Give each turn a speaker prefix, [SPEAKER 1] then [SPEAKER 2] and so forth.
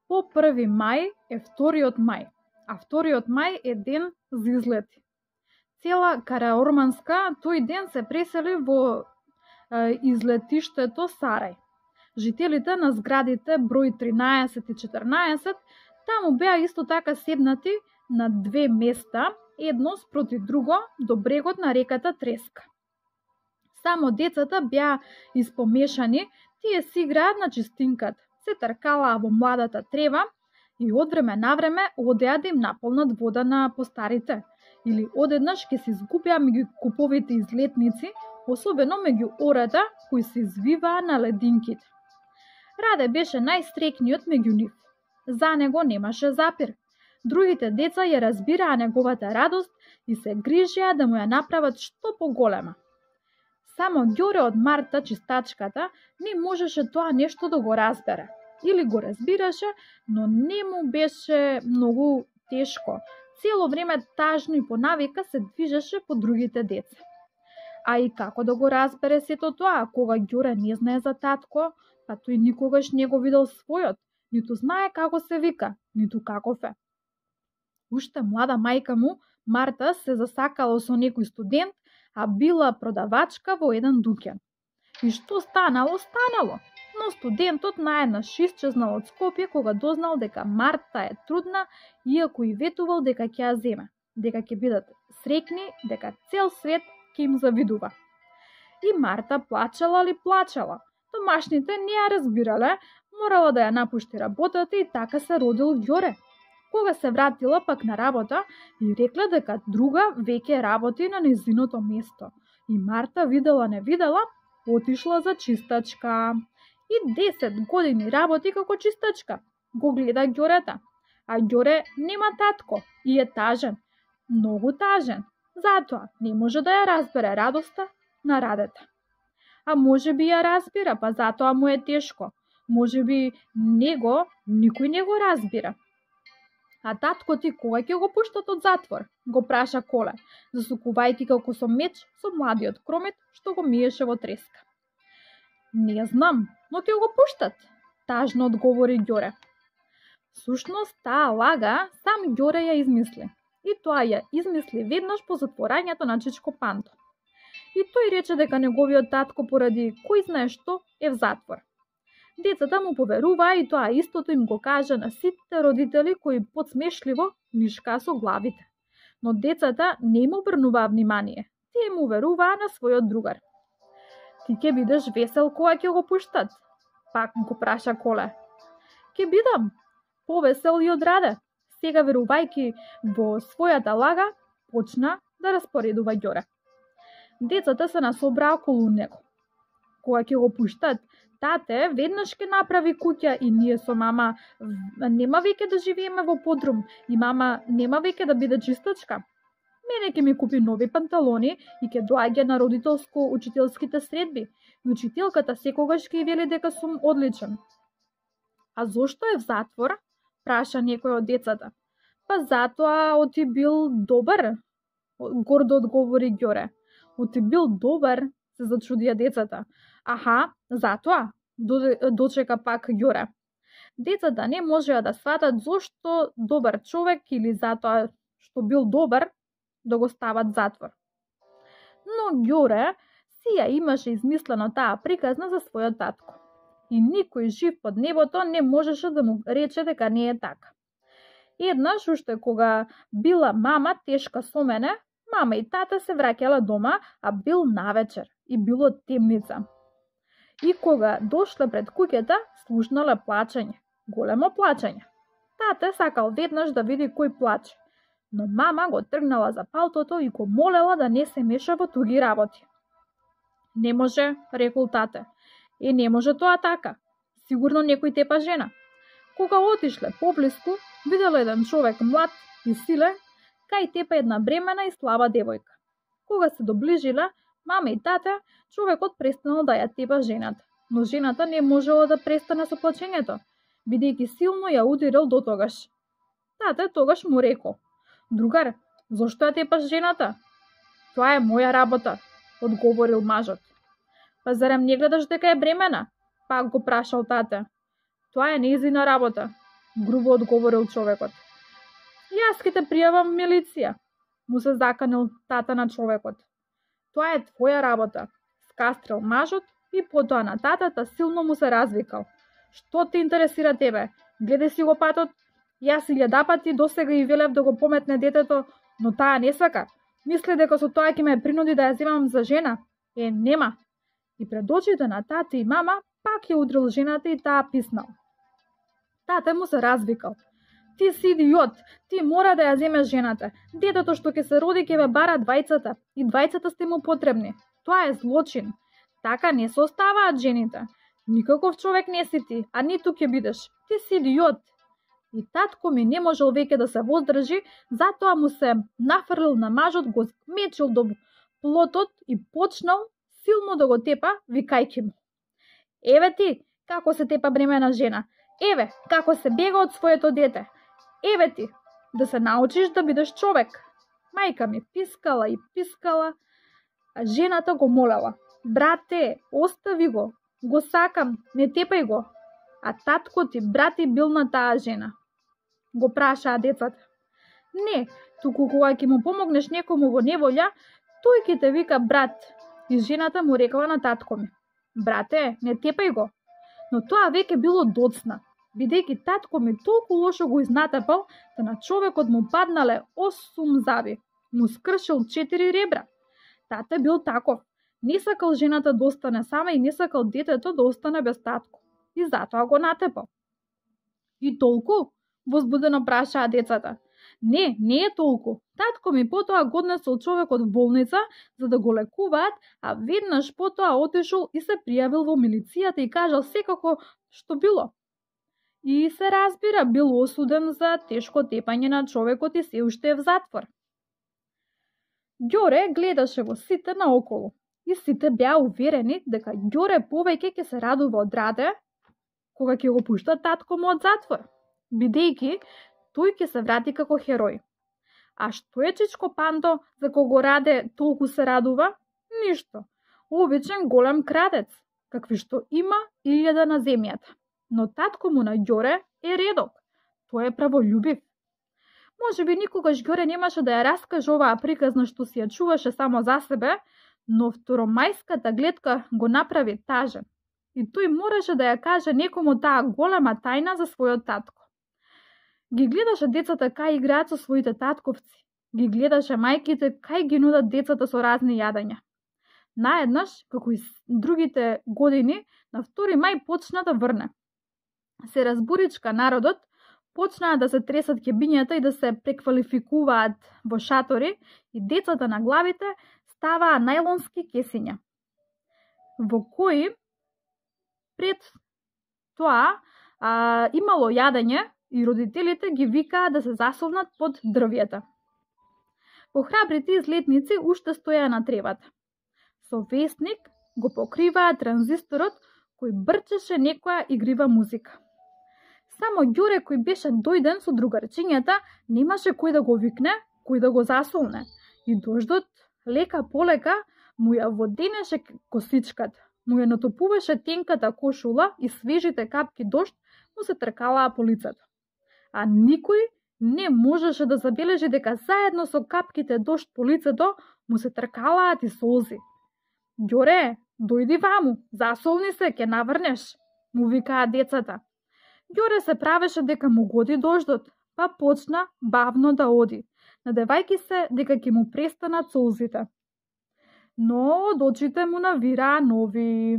[SPEAKER 1] По 1. мај е 2. мај, а 2. мај е ден за излети. Цела Караорманска тој ден се пресели во излетиштето Сарај. Жителите на зградите број 13 и 14 таму беа исто така седнати на две места, едно спроти друго, до брегот на реката Треска. Само децата беа испомешани, тие си играат на чистинката, се тркалаа во младата трева и од време на време одеа да им наполнат вода на постарите, или одеднаш ќе се изгубеа меѓу куповите излетници, особено меѓу ората кои се извиваа на лединките. Раде беше најстрекниот меѓу нив. За него немаше запир. Другите деца ја разбираа неговата радост и се грижеа да му ја направат што поголема. Само Ѓоре од Марта, чистачката, не можеше тоа нешто да го разбере. Или го разбираше, но не му беше многу тешко. Цело време тажно и по навика се движеше по другите деца. А и како да го разбере сето тоа, кога Ѓоре не знае за татко, па тој никогаш не го видел својот, ниту знае како се вика, ниту каков е. Уште млада мајка му, Марта, се засакала со некој студент, а била продавачка во еден дуќан. И што станало, станало. Но студентот наеднаш исчезнал од Скопје кога дознал дека Марта е трудна, иако и ветувал дека ќе ја земе, дека ќе бидат срекни, дека цел свет ќе им завидува. И Марта плачала ли плачала. Домашните не ја разбирале, морала да ја напушти работата и така се родил Ѓоре. Кога се вратила пак на работа и рекла дека друга веќе работи на незиното место. И Марта видела не видела, отишла за чистачка. И 10 години работи како чистачка. Го гледа Ѓорета. А Ѓоре нема татко и е тажен. Многу тажен. Затоа не може да ја разбере радоста на радета. А може би ја разбира, па затоа му е тешко. Може би него никој не го разбира. А татко ти кога ќе го пуштат од затвор? Го праша Коле, засукувајќи како со меч со младиот кромет што го миеше во треска. Не знам, но ќе го пуштат, тажно одговори Ѓоре. Всушност, таа лага сам Ѓоре ја измисли. И тоа ја измисли веднаш по затворањето на Чичко Панто. И тој рече дека неговиот татко поради кој знае што е в затвор. Децата му поверуваа и тоа истото им го кажа на сите родители кои подсмешливо нишкаа со главите. Но децата не им обрнуваа внимание. Тие му веруваа на својот другар. Ти ќе бидеш весел кога ќе го пуштат? Пак го праша Коле. Ќе бидам повесел и од раде. Сега верувајќи во својата лага, почна да распоредува Ѓоре. Децата се насобраа околу него. Кога ќе го пуштат, тате веднаш ќе направи куќа и ние со мама нема веќе да живееме во подрум и мама нема веќе да биде чистачка. Мене ќе ми купи нови панталони и ќе доаѓа на родителско-учителските средби. И учителката секогаш ќе вели дека сум одличен. А зошто е в затвор? Праша некој од децата. Па затоа оти бил добар, гордо одговори Ѓоре. Оти бил добар, се зачудија децата. Аха, затоа, дочека пак Ѓоре. Децата не можеа да сватат зошто добар човек или затоа што бил добар да го стават затвор. Но Ѓоре си ја имаше измислено таа приказна за својот татко. И никој жив под небото не можеше да му рече дека не е така. Еднаш, уште кога била мама тешка со мене, мама и тата се враќала дома, а бил навечер и било темница. И кога дошле пред куќата, слушнале плачење, големо плачење. Тата сакал веднаш да види кој плаче, но мама го тргнала за палтото и го молела да не се меша во туги работи. Не може, рекол тате. Не може тоа така. Сигурно некој тепа жена. Кога отишле поблиску, видела еден човек млад и силен, кај тепа една бремена и слаба девојка. Кога се доближиле, мама и тата, човекот престанал да ја тепа жената, но жената не можела да престане со плачењето, бидејќи силно ја удирал до тогаш. Тата тогаш му рекол: "Другар, зошто ја тепаш жената?" "Тоа е моја работа," одговорил мажот. "Па зарем не гледаш дека е бремена?" Пак го прашал тате. "Тоа е нејзина работа. грубо одговорил човекот. Јас ќе те пријавам милиција, му се заканил тата на човекот. Тоа е твоја работа, скастрил мажот и потоа на татата силно му се развикал. Што те интересира тебе? Гледај си го патот. Јас 1000 пати досега и велев да го пометне детето, но таа не сака. Мисли дека со тоа ќе ме принуди да ја земам за жена? Нема. И пред очите на тата и мама пак ја удрил жената и таа писнал. Тата му се развикал. Ти си идиот, ти мора да ја земеш жената. Детето што ќе се роди ќе ве бара двајцата и двајцата сте му потребни. Тоа е злочин. Така не се оставаат жените. Никаков човек не си ти, а ниту ќе бидеш. Ти си идиот. И татко ми не можел веќе да се воздржи, затоа му се нафрлил на мажот, го мечил до плотот и почнал силно да го тепа, викајќи му. Еве ти, како се тепа бремена жена. Еве, како се бега од своето дете. Еве ти, да се научиш да бидеш човек. Мајка ми пискала и пискала, а жената го молела. Брате, остави го сакам, не тепај го. А татко ти, брати, бил на таа жена. Го прашаа децата. Не, туку кога ќе му помогнеш некому во неволја, тој ќе те вика брат. И жената му рекла на татко ми. Брате, не тепај го. Но тоа веќе било доцна, бидејќи татко ми толку лошо го изнатапал, да на човекот му паднале 8 заби. Му скршил 4 ребра. Тата бил таков. Не сакал жената да остане сама и не сакал детето да остане без татко. И затоа го натепал. И толку? Возбудено прашаа децата. Не е толку. Татко ми потоа го однесол човекот в болница за да го лекуваат, а веднаш потоа отишол и се пријавил во милицијата и кажал секако што било. И се разбира, бил осуден за тешко тепање на човекот и се уште е в затвор. Ѓоре гледаше во сите наоколу и сите беа уверени дека Ѓоре повеќе ќе се радува од Раде кога ќе го пушта татко му од затвор, бидејќи тој ќе се врати како херој. А што е Чичко Панто за кого Раде толку се радува? Ништо. Обичен голем крадец, какви што има 1000 на земјата. Но татко му на Ѓоре е редок. Тој е праволюбив. Може би никогаш Ѓоре немаше да ја раскаже оваа приказна што си ја чуваше само за себе, но второмајската гледка го направи тажен. И тој мораше да ја каже некому таа голема тајна за својот татко. Ги гледаше децата кај играат со своите татковци. Ги гледаше мајките кај ги нудат децата со разни јадења. Наеднаш, како и другите години, на 2 мај почна да врне. Се разбуричка народот, почнаа да се тресат ќебињата и да се преквалификуваат во шатори и децата на главите ставаа најлонски кесиња, во кои пред тоа имало јадење и родителите ги викаа да се засолнат под дрвјата. Похрабрите излетници уште стоеа на тревата. Со весник го покриваа транзисторот кој брчеше некоја игрива музика. Само Ѓоре кој беше дојден со другарчињата немаше кој да го викне, кој да го засолне. И дождот лека полека му ја воденеше косичката, му ја натопуваше тенката кошула и свежите капки дожд му се тркалаа по лицето. А никој не можеше да забележи дека заедно со капките дожд по лицето му се тркалаат и солзи. Ѓоре, дојди ваму, засолни се, ќе наврнеш, му викаа децата. Ѓоре се правеше дека му годи дождот, па почна бавно да оди, надевајќи се дека ќе му престанат солзите. Но од очите му навираа нови.